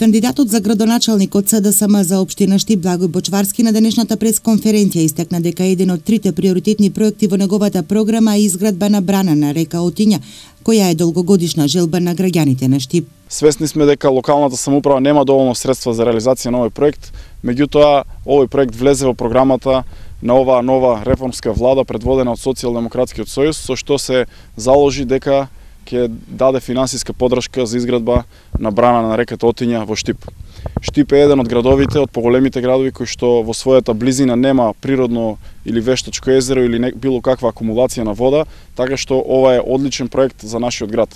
Кандидатот за градоначалник од СДСМ за општина Штип Благој Бочварски на денешната пресконференција истакна дека еден од трите приоритетни проекти во неговата програма е изградба на брана на река Отиња, која е долгогодишна желба на граѓаните на Штип. Свесни сме дека локалната самоуправа нема доволно средства за реализација на овој проект, меѓутоа овој проект влезе во програмата на оваа нова реформска влада предводена од Социјалдемократскиот сојуз, со што се заложи дека ќе даде финансиска поддршка за изградба на брана на реката Отиња во Штип. Штип е еден од градовите, од поголемите градови кои што во својата близина нема природно или вештачко езеро или било каква акумулација на вода, така што ова е одличен проект за нашиот град.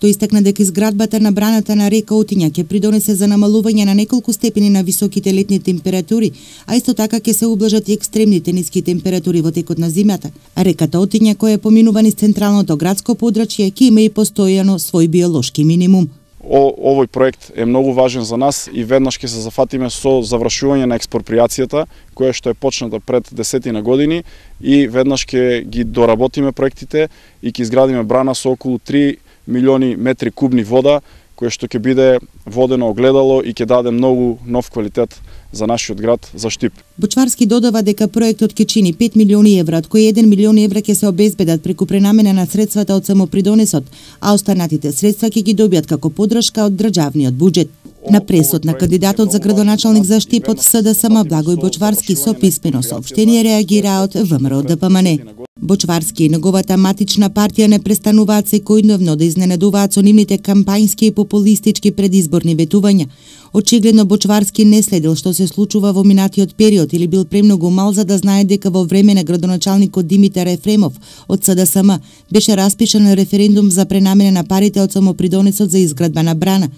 Тој истакна дека изградбата на браната на река Отиња ќе придонесе за намалување на неколку степени на високите летни температури, а исто така ќе се ублажат и екстремните ниски температури во текот на зимата. Реката Отиња, која поминува низ централното градско подрачје, ќе има и постојано свој биолошки минимум. Овој проект е многу важен за нас и веднаш ќе се зафатиме со завршување на експроприацијата, која што е почната пред 10 години, и веднаш ќе ги доработиме проектите и ќе изградиме брана со околу 3 милиони метри кубни вода, кое што ќе биде водено огледало и ќе даде многу нов квалитет за нашиот град, за Штип. Бочварски додава дека проектот ќе чини 5 милиони евра, од кои 1 милион евра ќе се обезбедат преку пренамена на средствата од самопридонесот, а останатите средства ќе ги добијат како поддршка од државниот буџет. На пресот на кандидатот за градоначалник за Штип од СДСМ Благој Бочварски со писмено соопштение реагира од ВМРО ДПМН. Бочварски и неговата матична партија не престануваат секојдневно да изненадуваат со нивните кампањски и популистички предизборни ветувања. Очигледно Бочварски не следил што се случува во минатиот период или бил премногу мал за да знае дека во време на градоначалникот Димитар Ефремов од СДСМ беше распишан референдум за пренамена на парите од самопридонесот за изградба на брана.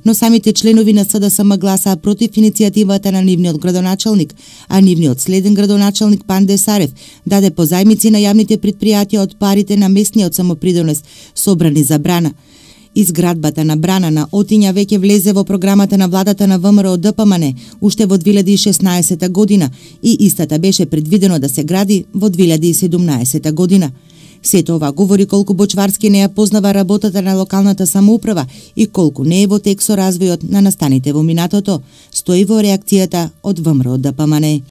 Но самите членови на СДСМ гласаа против иницијативата на нивниот градоначалник, а нивниот следен градоначалник Панде Сарев даде позајмици на јавните претпријатија од парите на местниот самопридонес собрани за брана. Изградбата на брана на Отиња веќе влезе во програмата на владата на ВМРО ДПМН уште во 2016 година и истата беше предвидено да се гради во 2017 година. Сето ова говори колку Бочварски не ја познава работата на локалната самоуправа и колку не е во тек со развојот на настаните во минатото, стои во реакцијата од ВМРО ДПМН.